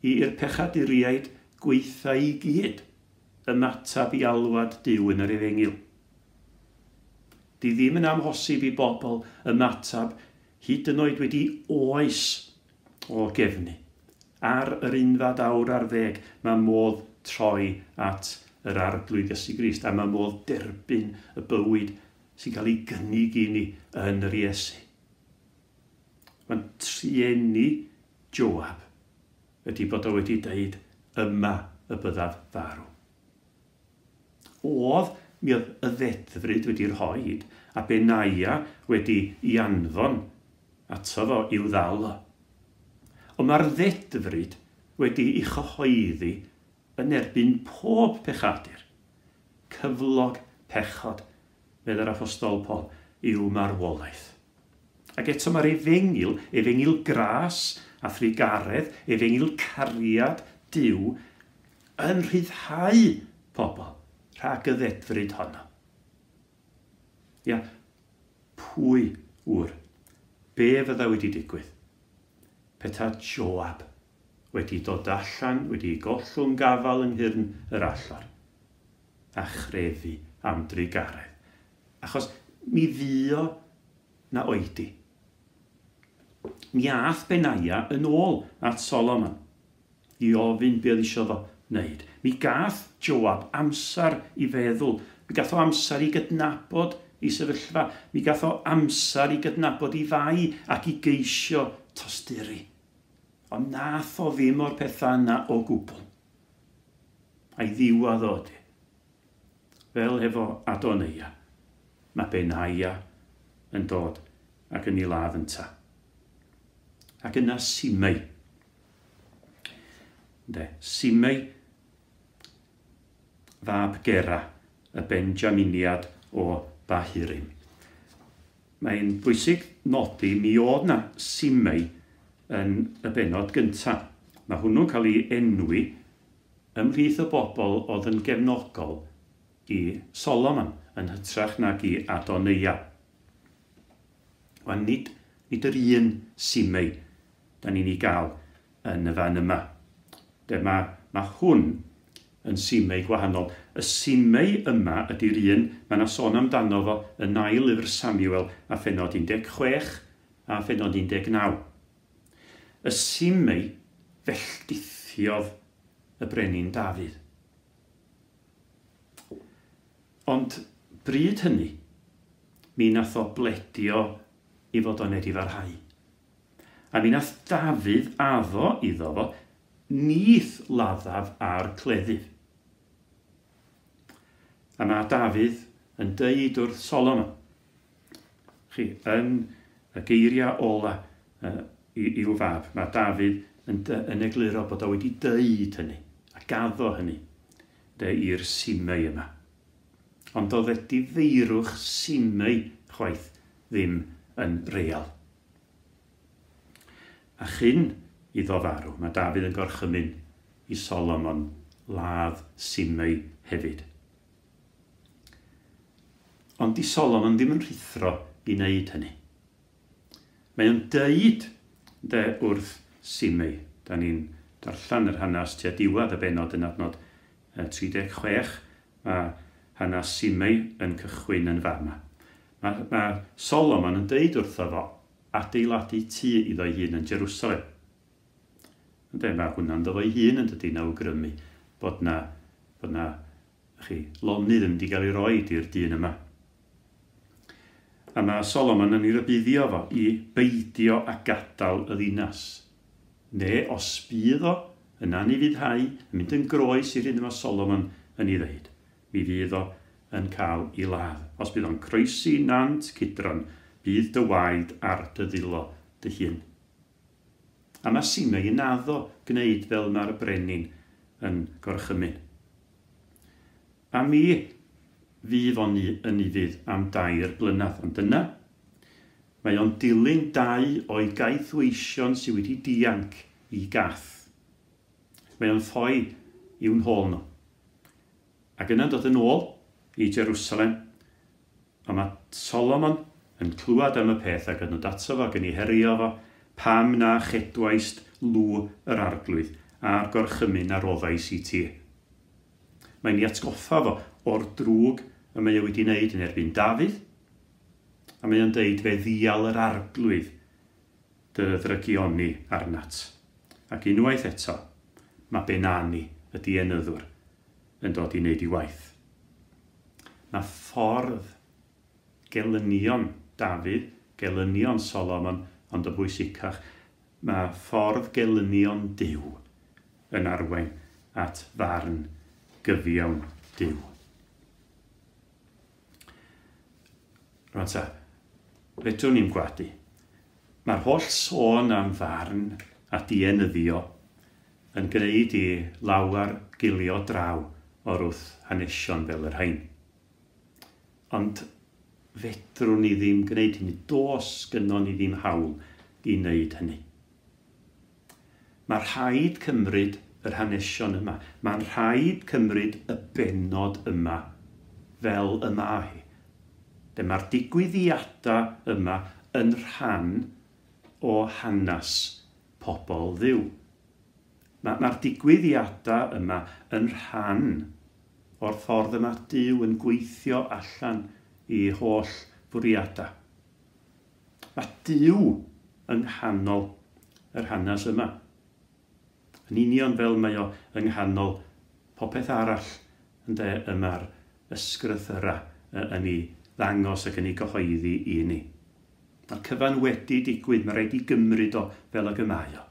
i'r pechaduriaid gweitha i gyd ymateb i alwad Duw yn yr efengyl. Di ddim yn amhosib i bobl ymateb hyd yn oed wedi oes o gefnu. Ar yr unfad awr ar ddeg mae modd troi at yr Arglwydd Iesu Grist a mae modd derbyn y bywyd sy'n cael ei gynnig i ni yn yr Iesu. Mae'n trueni Joab ydy bod o wedi deud yma y byddaf farw. Oedd, mi oedd y ddedfryd wedi rhoid a Benaia wedi ei anfon ato fo i'w ddal o. Ond mae'r ddedfryd wedi ei chyhoeddi yn erbyn pob pechadur. Cyflog pechod, meddai'r Apostol Paul, yw marwolaeth. Ac eto mae'r efengyl, efengyl gras a thrugaredd, efengyl cariad Duw yn rhyddhau pobl rhag y ddedfryd honno. Ia, pwy ŵyr, be fydda wedi digwydd? Peta Joab wedi dod allan, wedi gollwng gafal yng nghyrn yr allor a chrefu am drugaredd. Achos mi fuo na oedi. Mi ath Benaia yn ôl at Solomon i ofyn be oedd isio fo wneud. Mi gath Joab amser i feddwl. Mi gath o amser i gydnabod i sefyllfa. Mi gath o amser i gydnabod i fai ac i geisio tosturi. Ond nath o ddim o'r pethau yna o gwbl. A'i ddiwadd o ydy. Fel hefo Adoneia, mae Benaia yn dod ac yn ei ladd ynta. Ac yna Simei. Ynde, Simei, fab Gera, y Benjaminiad o Bahurim. Mae'n bwysig nodi mi oedd na Simei yn y bennod gyntaf. Mae hwnnw'n cael ei enwi ymhlith y bobl oedd yn gefnogol i Solomon yn hytrach nag i Adoneia. Wel, nid, nid yr un Simei da ni'n ei gael yn y fan yma. De, mae, mae hwn yn Simei gwahanol. Y Simei yma ydy'r un mae yna sôn amdano fo yn ail lyfr Samuel a phennod un deg chwech a phennod un deg naw. Y Simei felldithiodd y brenin Dafydd. Ond bryd hynny, mi nath o bledio i fod o'n edifarhau. A mi nath Dafydd addo iddo fo, nith laddaf ar cleddyf. A mae Dafydd yn deud wrth Solomon, chi, yn y geiriau ola uh, i'w fab, mae Dafydd yn, yn egluro bod o wedi deud hynny, a gaddo hynny, de i'r Simei yma. Ond oedd edifeirwch Simei chwaith ddim yn real. A chyn iddo farw, mae Dafydd yn gorchymyn i Solomon ladd Simei hefyd. Ond di Solomon ddim yn rhuthro i wneud hynny. Mae o'n deud de wrth Simei. Da ni'n darllen yr hanes tua diwedd y bennod yn adnod tri deg chwech. Mae hanes Simei yn cychwyn yn fama. Mae, mae Solomon yn deud wrtho fo adeiladu tŷ iddo'i hun yn Jerusalem. Ynde, mae hwnna'n ddo fo'i hun yn dydy, awgrymu bod na, bod na chi, lonydd yn mynd i gael ei roed i'r dyn yma. A mae Solomon yn ei rybuddio fo i beidio a gadael y ddinas. Neu os bydd o yn anufuddhau, yn mynd yn groes i'r hyn mae Solomon yn ei ddeud, mi fydd o yn cael ei ladd. Os bydd o'n croesi nant Cidron, bydd dy waed ar dy ddwylo dy hun. A mae Simei yn addo gwneud fel mae'r brenin yn gorchymyn. A mi fydd o'n yn ufudd am dair blynedd. Ond yna, mae o'n dilyn dau o'i gaethweision sydd wedi dianc i Gath. Mae o'n ffoi i'w nhôl nhw. Ac yna'n dod yn ôl i Jerusalem, a mae Solomon yn clywed am y peth ac yn dod ato fo ac yn ei herio fo, pam na chedwaist lw yr arglwydd a'r gorchymyn a roddais i ti. Mae'n ei atgoffa fo o'r drwg y mae o wedi wneud yn erbyn Dafydd, a mae o'n deud fe ddial yr arglwydd dy ddrygioni arnat. Ac unwaith eto, mae Benani, y dienyddwr, yn dod i wneud ei waith. Mae ffordd gelynion Dafydd, gelynion Solomon, ond y bwysicach, mae ffordd gelynion Duw yn arwain at farn gyfiawn Duw. Rwan ta, fedrwn ni'm gwadu. Mae'r holl sôn am farn a dienyddio yn gwneud i lawer gilio draw o'r wrth hanesion fel yr rhain. Ond fedrwn ni ddim gwneud hynny. Does gynnon ni ddim hawl i wneud hynny. Mae rhaid cymryd yr hanesion yma. Mae'n rhaid cymryd y bennod yma fel y mae hi. Mae'r digwyddiadau yma yn rhan o hanes pobl Dduw. Mae'r digwyddiadau yma yn rhan o'r ffordd yma Duw yn gweithio allan i holl fwriadau. Mae Duw yng nghanol yr hanes yma. Yn union fel mae o yng nghanol popeth arall ynde y mae'r ysgrythyrau yn ei ddangos ac yn ei gyhoeddi i ni. Mae'r cyfan wedi digwydd, mae rhaid i gymryd o fel ag y mae o.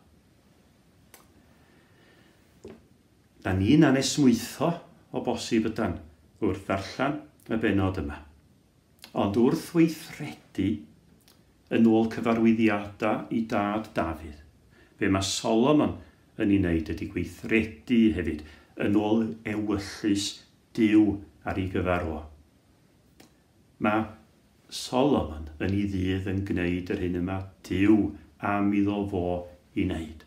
Da ni'n anesmwytho o bosib ydan wrth ddarllen y bennod yma. Ond wrth weithredu yn ôl cyfarwyddiadau i dad Dafydd, be mae Solomon yn ei wneud ydy gweithredu hefyd yn ôl ewyllys Duw ar ei gyfer o. Mae Solomon yn ei ddydd yn gwneud yr hyn yma Duw am iddo fo i wneud.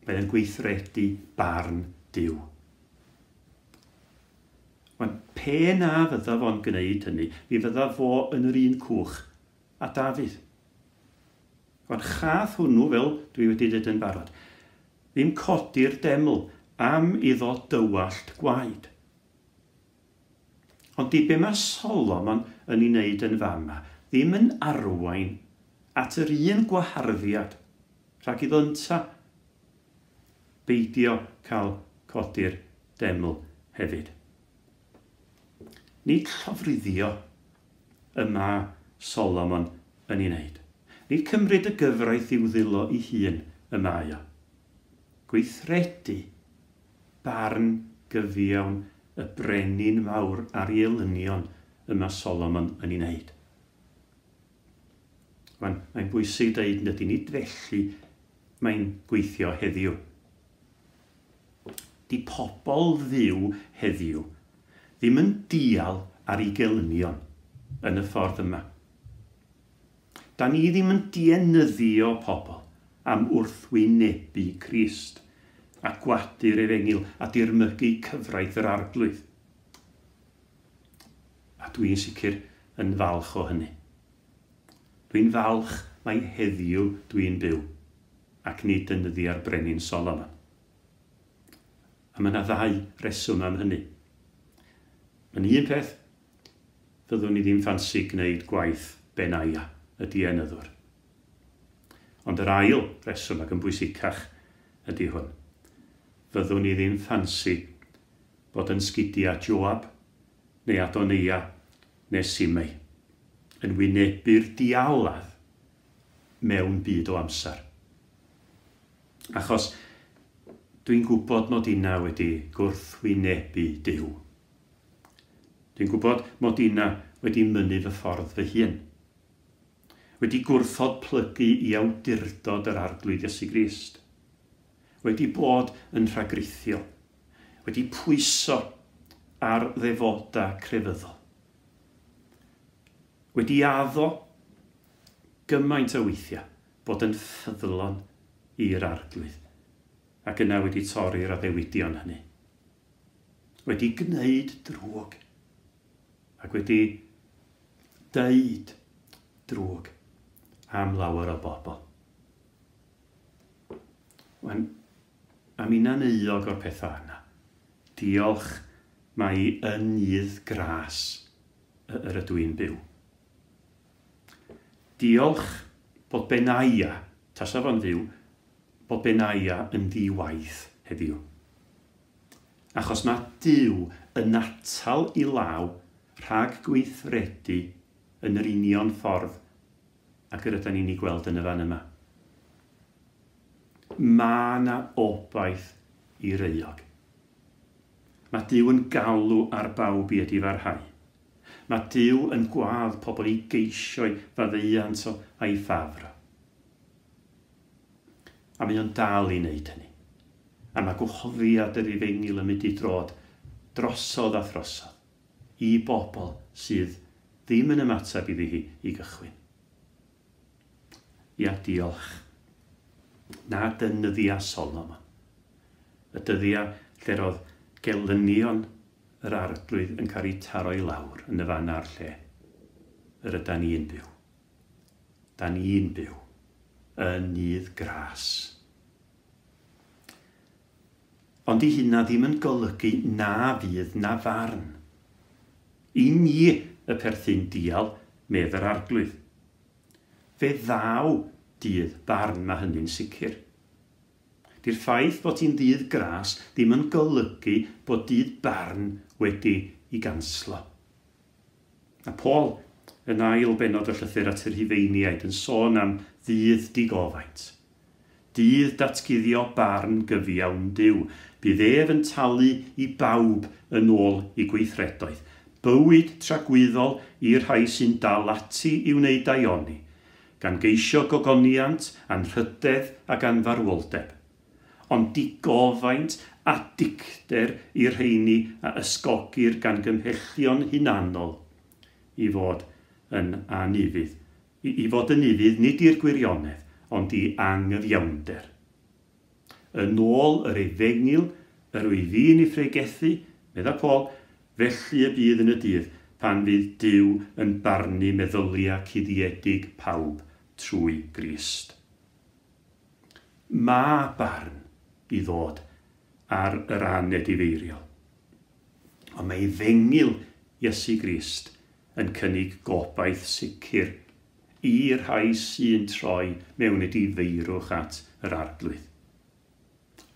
Mae o'n gweithredu barn Duw. Wan, pe na fydda fo'n gwneud hynny, mi fydda fo yn yr un cwch a Dafydd. Wan, chath hwnnw, fel dwi wedi dweud yn barod, ddim codi'r deml am iddo dywallt gwaed. Ond di be mae Solomon yn ei wneud yn fama, ddim yn arwain at yr un gwaharddiad rhag iddo ynta beidio cael codi'r deml hefyd. Nid llofruddio y mae Solomon yn ei wneud. Nid cymryd y gyfraith i'w ddwylo ei hun y mae o. Gweithredu barn gyfiawn y brenin mawr ar ei elynion y mae Solomon yn ei wneud. Mae'n, mae'n bwysig dweud nad nid felly mae'n gweithio heddiw. Di pobl Dduw heddiw ddim yn dial ar ei gelynion yn y ffordd yma. Da ni ddim yn dienyddio pobl am wrthwynebu Crist a gwadu'r efengyl a dirmygu cyfraith yr Arglwydd. A dwi'n sicr yn falch o hynny. Dwi'n falch mai heddiw dwi'n byw ac nid yn nyddiau'r brenin Solomon. A mae yna ddau reswm am hynny. Yn un peth, fyddwn ni ddim ffansi gwneud gwaith Benaia, y dienyddwr. Ond yr ail reswm ac yn bwysicach ydy hwn. Fyddwn ni ddim ffansi bod yn sgidiau Joab neu Adonia neu Simei yn wynebu'r dialadd mewn byd o amser. Achos dwi'n gwybod mod inna wedi gwrthwynebu Duw. Dwi'n gwybod mod inna wedi mynnu fy ffordd fy hun. Wedi gwrthod plygu i awdurdod yr Arglwydd Iesu Grist. Wedi bod yn rhagrithiol. Wedi pwyso ar ddefodau crefyddol. Wedi addo gymaint o weithiau bod yn ffyddlon i'r Arglwydd. Ac yna wedi torri'r addewidion hynny. Wedi gwneud drwg. Ac wedi deud drwg am lawer o bobl. Wan, am inna'n euog o'r pethau yna. Diolch mai yn nydd gras yr ydw i'n byw. Diolch bod Benaia, tasa fo'n fyw, bod Benaia yn ddi-waith heddiw. Achos mae Duw yn atal i law rhag gweithredu yn yr union ffordd ac yr ydyn ni'n ei gweld yn y fan yma. Mae yna obaith i'r euog. Mae Duw yn galw ar bawb i edifarhau. Mae Duw yn gwadd pobl i geisio'i faddeuant o a'i ffafr. A mae o'n dal i wneud hynny. A mae gwahoddiad yr efengyl yn mynd i drod drosodd a throsodd i bobl sydd ddim yn ymateb iddi hi i gychwyn. Ia, diolch. Na dynyddia Solomon. Y dyddia lle roedd gelynion yr Arglwydd yn cael eu taro i lawr yn y fan a'r lle. Yr ydan ni'n byw. Da ni'n byw yn nydd gras. Ond i hynna ddim yn golygu na fydd na farn. I ni y perthyn dial, medd yr Arglwydd. Fe ddaw dydd barn, mae hynny'n sicr. Di'r ffaith bod hi'n ddydd gras ddim yn golygu bod dydd barn wedi i ganslo. A Paul, yn ail bennod y llythyr at yr Rhufeiniaid, yn sôn am ddydd digofaint. Dydd datguddio barn gyfiawn Duw. Bydd ef yn talu i bawb yn ôl i gweithredoedd. Bywyd tragwyddol i'r rhai sy'n dal ati i wneud daioni, gan geisio gogoniant, anrhydedd ac anfarwoldeb. Ond digofaint a dicter i'r rheini a ysgogir gan gymhellion hunanol i fod yn anufudd. I, i fod yn ufudd nid i'r gwirionedd, ond i angyfiawnder. Yn ôl yr efengyl, yr wyf fi'n ei phregethu, medda Paul, felly y bydd yn y dydd pan fydd Duw yn barnu meddyliau cuddiedig pawb trwy Grist. Mae barn i ddod ar yr anedifeiriol. Ond mae efengyl Iesu Grist yn cynnig gobaith sicr i'r rhai sy'n troi mewn edifeirwch at yr Arglwydd.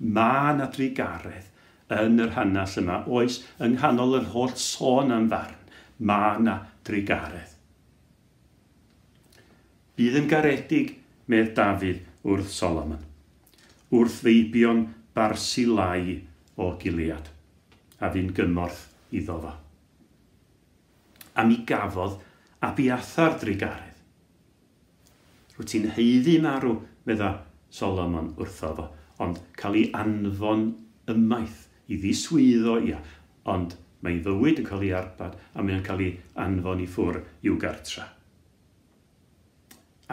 Mae 'na drugaredd yn yr hanes yma, oes, yng nghanol yr holl sôn am farn. Mae 'na drugaredd. Bydd yn garedig, medd Dafydd wrth Solomon, wrth feibion Barsilai o Gilead, a fu'n gymorth iddo fo. A mi gafodd Abiathar drugaredd. Rwyt ti'n haeddu marw, medda Solomon wrtho fo, ond cael ei anfon ymaith i ddiswyddo, ia, ond mae ei fywyd yn cael ei arbad a mae'n cael ei anfon i ffwr i'w gartra.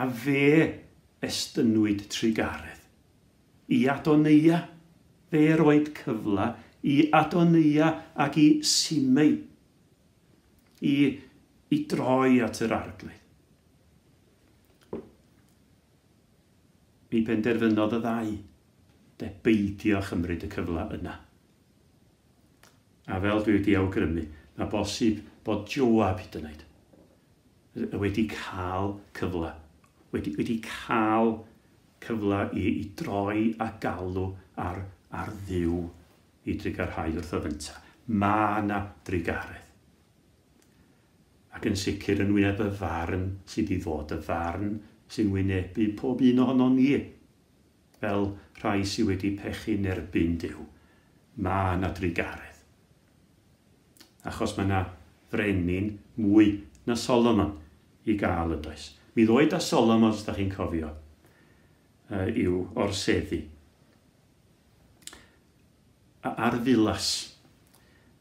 A fe estynwyd trugaredd i Adoneia. Fe roed cyfle i Adoneia ac i Simei i, i droi at yr Arglwydd. Mi benderfynodd y ddau de beidio chymryd y cyfle yna. A fel dwi wedi awgrymu, mae bosib bod Joab hyd yn oed wedi cael cyfle, wedi, wedi cael cyfle i, i droi a galw ar, ar Dduw i drugarhau wrtho fynta. Mae 'na drugaredd. Ac yn sicr yn wyneb y farn sydd i ddod, y farn sy'n wynebu pob un ohonon ni, fel rhai sydd wedi pechu'n erbyn Duw. Mae 'na drugaredd. Achos mae 'na frenin mwy na Solomon i gael yn does. Mi ddoed â Solomon, os da chi'n cofio, i'w orseddu ar ddilas,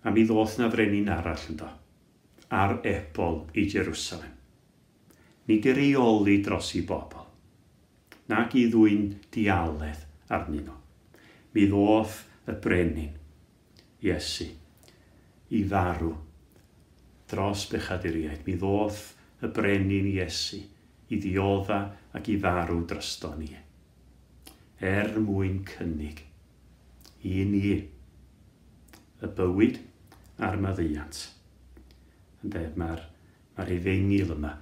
a mi ddoth na frenin arall ynddo, ar ebol i Jerusalem. Nid i reoli dros i bobl, nag i ddwyn dialedd arnyn nhw. Mi ddoth y brenin, Iesu, i farw dros bechaduriaid. Mi ddoth y brenin Iesu i ddiodda ac i farw drosto ni, er mwyn cynnig i ni y bywyd a'r maddeuant. Ynde, mae'r mae'r efengyl yma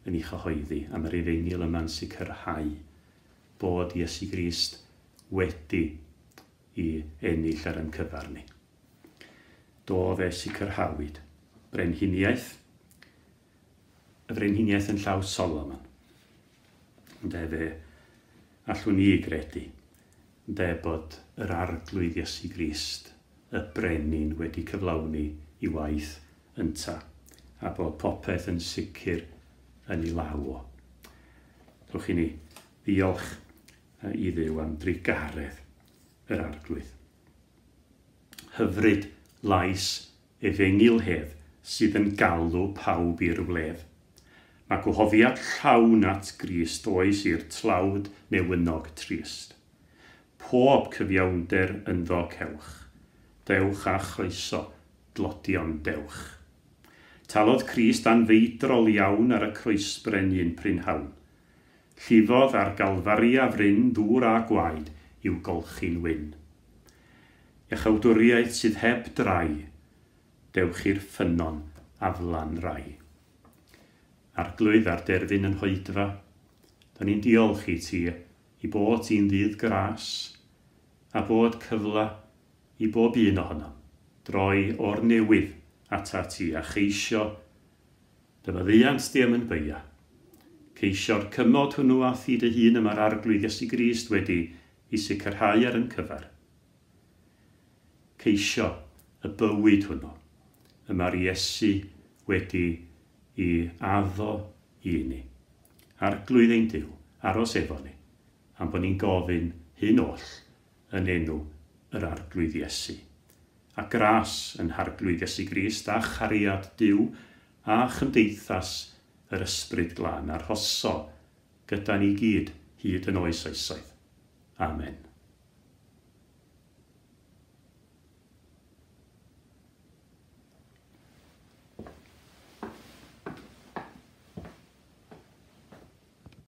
yn ei chyhoeddi, a mae'r efengyl yma'n sicrhau bod Iesu Grist wedi i ennill ar ein cyfar ni. Do, fe sicrhawyd brenhiniaeth, y frenhiniaeth yn llaw Solomon. Ynde, fe allwn ni gredu ynde, bod yr Arglwydd Iesu Grist, y brenin, wedi cyflawni i waith ynta, a bod popeth yn sicr yn ei law o. Dewch i ni ddiolch i Dduw am drugaredd yr Arglwydd. Hyfryd lais efengyl hedd sydd yn galw pawb i'r wledd. Mae gwahoddiad llawn at Grist oes i'r tlawd newynog trist. Pob cyfiawnder ynddo cewch. Dewch a chroeso, dlodion dewch. Talodd Crist anfeidrol iawn ar y croesbren un prynhawn. Llifodd ar Galfaria fryn ddŵr a gwaed i'w golchi'n wyn. Iachawdwriaeth sydd heb drai, dewch i'r ffynnon aflan rai. Arglwydd ar derfyn yn hoedfa, da ni'n diolch i ti i bod ti'n ddydd gras, a bod cyfle i bob un ohonom droi o'r newydd ata ti a cheisio dy faddeuant di am yn beia. Ceisio'r cymod hwnnw a thi dy hun y mae'r Arglwydd Iesu Grist wedi i sicrhau ar yn cyfer. Ceisio y bywyd hwnnw y mae'r Iesu wedi i addo i ni. Arglwydd ein Duw, aros efo ni, am bod ni'n gofyn hyn oll yn enw yr Arglwydd Iesu. A gras yn Harglwydd Iesu Grist a chariad Duw a chymdeithas yr Ysbryd Glân arhoso gyda ni gyd hyd yn oes oesoedd. Amen.